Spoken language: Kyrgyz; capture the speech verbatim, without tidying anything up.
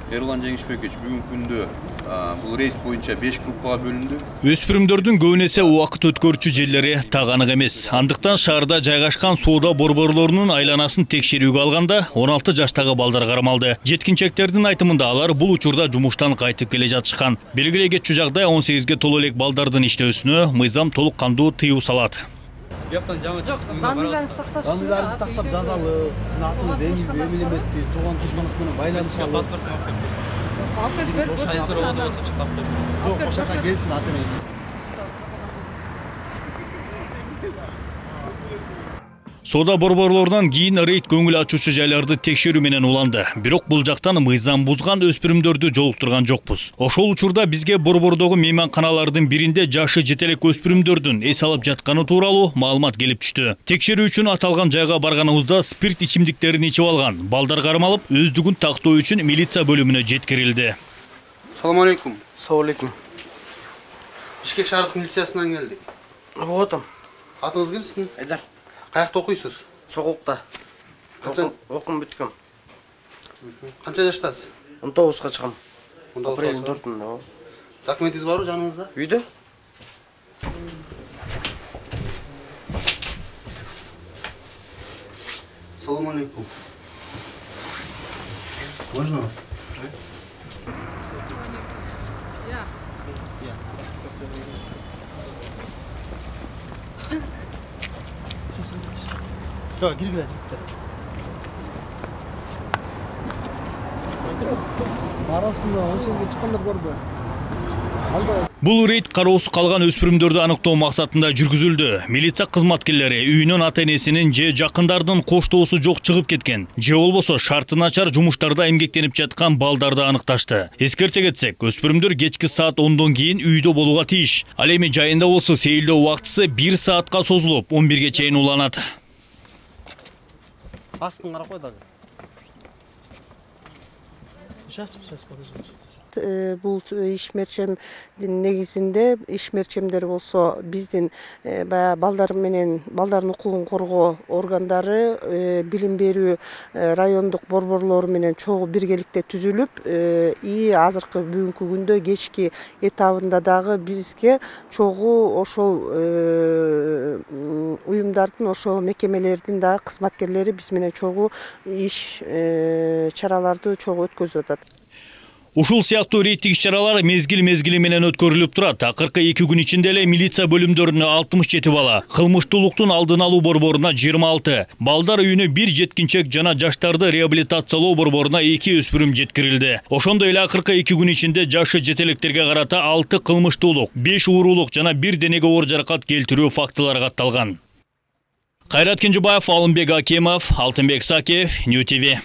Эрулан Жеңишбекович бүгүнкү күндө бул рейд боюнча беш группага бөлүндү. Өспүрүмдөрдүн көбүнесе убакыт өткөрүүчү жерлери так анык эмес. Андыктан шаарда жайгашкан соода борборлорунун айланасын текшерүүгө алганда он алты жаштагы балдар кармалды. Жеткинчектердин айтымында алар бул учурда жумуштан кайтып келе жатышкан. Белгилей кетчү жагдай он сегизге толо элек балдардын иштөөсүнө мыйзам толук кандуу тыюу салат. Бияктан жаңы чыкты. Даныларыңызды такташ. Даныларыңызды тактап жазалы. Сиздин атыңыз эмил эмеспи? Тууган тушканыңыз менен байланышалы. Паспортун алып келип Алып келип берип Кайсы роодо болсо чыгып берип. Жок, ошака келсин атыңыз. Соода борборлорунан кийин рейд көңүл ачуучу жайларды текшерүү менен уланды. Бирок бул жактан мыйзам бузган өспүрүмдөрдү жолуктурган жокпуз. Ошол учурда бизге борбордогу мейманканалардын биринде жашы жетелек өспүрүмдөрдүн эс алып жатканы тууралуу маалымат келип түштү. Текшерүү үчүн аталган жайга барганыбызда спирт ичимдиктерин ичип алган балдар кармалып, өздүгүн тактоо үчүн милиция бөлүмүнө жеткирилди. Салам алейкум. Салам алейкум. Бишкек шаардык милициясынан келдик. Отом. Атыңыз ким сиздин? Айдар. Каякта окуйсуз? Соголукта. Качан окум бүткөм. Канча жаштасыз? он тогузга чыгам. он тогузга. Апрелдин төртүндө. Документиңиз барбы жаныңызда? Үйдө? Салам алейкум. Можно вас? Жок, киргиле. Арасында он сегизге чыккандар барбы? Бул рейд кароосуз калган өспүрүмдөрдү аныктоо максатында жүргүзүлдү. Милиция кызматкерлери үйүнөн ата-энесинин же жакындардын коштоосу жок чыгып кеткен, же болбосо шарты начар жумуштарда эмгектенип жаткан балдарды аныкташты. Эскерте кетсек, өспүрүмдөр кечки саат ондон кийин үйдө болууга тийиш. Ал эми жайында болсо сейилдөө убактысы бир саатка созулуп, он бирге чейин уланат. Астын карап кой дагы. Сейчас, сейчас, подожди. Бул ишмерчемдин негизинде ишмерчемдер болсо биздин баягы балдар менен балдардын укугун коргоо органдары билим берүү райондук борборлору менен чогуу биргеликте түзүлүп, и азыркы бүгүнкү күндө кечки этабында дагы бизге чогуу ошол уюмдардын, ошол мекемелердин дагы кызматкерлери биз менен чогуу иш чараларды чогуу өткөзүп атат. Ушул сыяктуу рейдтик иш-чаралар мезгил-мезгили менен өткөрүлүп турат. Акыркы эки күн ичинде эле милиция бөлүмдөрүнө алтымыш жети бала, кылмыштуулуктун алдын алуу борборуна жыйырма алты, балдар үйүнө бир жеткинчек жана жаштарды реабилитациялоо борборуна эки өспүрүм жеткирилди. Ошондой эле акыркы эки күн ичинде жашы жетелектерге карата алты кылмыштуулук, беш уурулук жана бир денеге оор жаракат келтирүү фактылары катталган. Кайрат Кенжебаев, Алымбек Акимов, Алтынбек Сакиев, Нью ти ви.